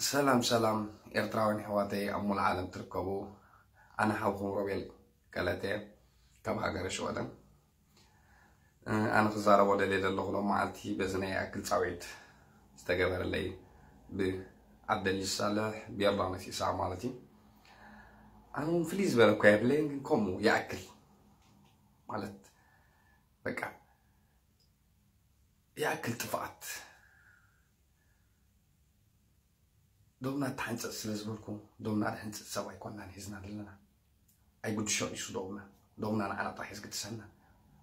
ሰላም ሰላም ኤርትራውያን ኣሕዋተይ ኣብ ሙሉእ ዓለም ትርከቡ፣ ኣነ ሓውኹም ሮቤል ገለቴ ካብ ሃገረ ሽወደን። ኣነ ክዛረቦ ደልየ ዘለኹ ሎም መዓልቲ በዚ ናይ ይኣክል ጻውዒት ዝተገበረለይ ብዓብደልጅ ሳልሕ ብዮርዳኖስ ኢሳቕ ማለት እዩ። ኣነ እውን ፍልይ ዝበለ እኳ የብለይን፣ ግን ከምኡ ይኣክል ማለት በቃ ይኣክል ጥፍኣት። ዶብና ተሓንፀፅ ስለ ዝበልኩ፣ ዶብና ዝሕንፅፅ ሰብ ኣይኮንናን ሒዝና ዘለና። ኣይጉድሾን እዩ ዶብና። ዶብና ንዓና ጥራሕ እዩ ዝግድሰና።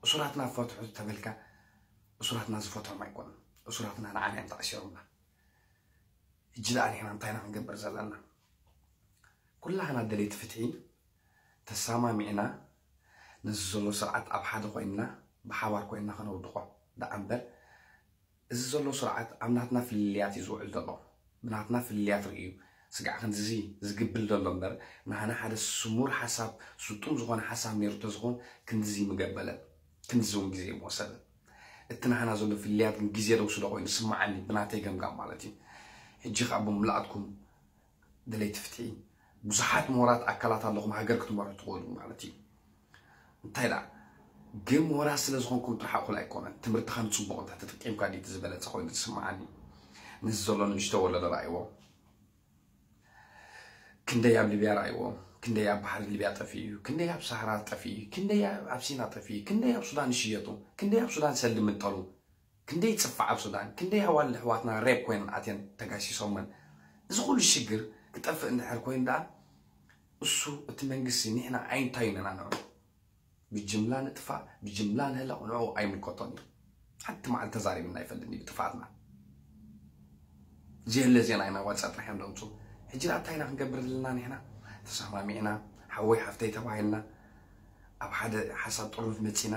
እሱራትና ፈትሑ ተበልካ፣ እሱራትና ዝፈትሖም ኣይኮኑን። እሱራትና ንዓና እዮም ተኣሲሮምና። ሕጂ ደኣ ንሕና እንታይ ኢና ክንገብር ዘለና? ኩላህና ደለይቲ ፍትሒ ተሳማሚዕና ነዚ ዘሎ ስርዓት ኣብ ሓደ ኮይንና ብሓባር ኮይንና ከነውድቆ ደኣ እምበር፣ እዚ ዘሎ ስርዓት ኣብ ናትና ፍልልያት እዩ ዝውዕል ዘሎ። ብናትና ፍልልያት ርእዩ ስጋዕ ክንድዚ ዝግብል ዘሎ እምበር፣ ናህና ሓደ ስሙር ሓሳብ፣ ስጡም ዝኾነ ሓሳብ ነይሩ ተዝኾን ክንድዚ ምገበለ፣ ክንድዚ እውን ግዜ ምወሰደ። እቲ ናህና ዘሎ ፍልልያት ግን ግዜ ደውስዶ ኮይኑ ስማዓኒ፣ ብናተይ ገምጋም ማለት እዩ። ሕጂ ከዓ ብምልኣትኩም ደለይቲ ፍትሒ ብዙሓት ምሁራት ኣካላት ኣለኹም፣ ሃገር ክትመርሑ ትኽእሉ ማለት እዩ። እንታይ ደኣ ግን ምሁራት ስለ ዝኾንኩም ጥራሕ እኹል ኣይኮነን። ትምህርትኻ ንፅቡቕ እንተ ተጠቂምካ ድዩ እቲ ዝበለፀ ኮይኑ ዝስምዓኒ? ነዚ ዘሎ ንእሽቶ ወለዶ ረኣይዎ። ክንደይ ኣብ ሊብያ ረኣይዎ፣ ክንደይ ኣብ ባሕሪ ሊብያ ጠፊኡ እዩ፣ ክንደይ ኣብ ሳህራ ጠፊኡ እዩ፣ ክንደይ ኣብ ሲና ጠፊኡ እዩ፣ ክንደይ ኣብ ሱዳን ይሽየጡ፣ ክንደይ ኣብ ሱዳን ሰልዲ ምጠሉ፣ ክንደይ ይፅፋዕ ኣብ ሱዳን፣ ክንደይ ኣዋልድ ኣሕዋትና ሬፕ ኮይነን ኣትየን ተጋሲሶመን። እዚ ኩሉ ሽግር ክጠፍእ እንድሕር ኮይኑ ደኣ እሱ እቲ መንግስቲ ንሕና ኣይንታዩን ኢና ንዑ ብጅምላ ንጥፋእ ብጅምላ ንህለቕ ንዑ ኣይምልከቶን እዩ። ሓንቲ መዓልቲ ተዛሪብና ኣይፈልጥን እዩ ብጥፍኣትና። ዘየለ ዜና ኢና ዋፃ ጥራሕ እዮም ዘምፁ። ሕጂ ደኣ እንታይ ኢና ክንገብር ዘለና ንሕና? ተሰማሚዕና ሓወይ ሓፍተይ ተባሂልና ኣብ ሓደ ሓሳብ ጥርኑፍ መፂና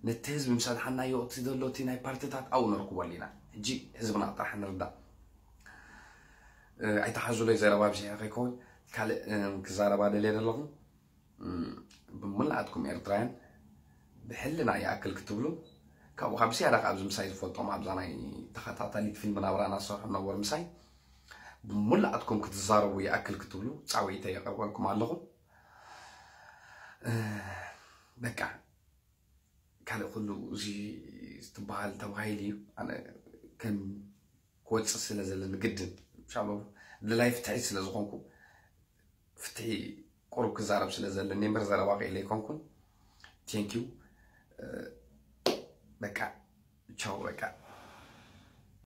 ነቲ ህዝቢ ምስ ኣድሓናዮ እቲ ዘሎ እቲ ናይ ፓርትታት ኣብኡ ንረክበሉ ኢና። ሕጂ ህዝብና ጥራሕ ንርዳእ። ኣይተሓዙለይ ዘረባ ብዚሐ ከይከውን ካልእ ክዛረባ ደልየ ዘለኹ። ብሙላኣትኩም ኤርትራውያን ብሕልና ይኣክል ክትብሉ ካብኡ ካብ ዝያዳ ካብ ኣብዚ ምሳይ ዝፈልጦም ኣብዛ ናይ ተኸታታሊት ፊልም ናብራ ናሰርሑ ነበር ምሳይ ብሙላኣትኩም ክትዛረቡ ይኣክል ክትብሉ ፃውዒተ የቐርበልኩም ኣለኹ። በቃ ካልእ ኩሉ እዚ ትበሃል ተባሂሉ እዩ። ኣነ ከም ክወፅእ ስለ ዘለኒ ግድን ሻሎ ድላይ ፍትሒ ስለ ዝኾንኩ ፍትሒ ቁሩብ ክዛረብ ስለ ዘለኒ እምበር ዘረባ ክኢለ ኣይኮንኩን። ቴንኪዩ። በቃ ቻው። በቃ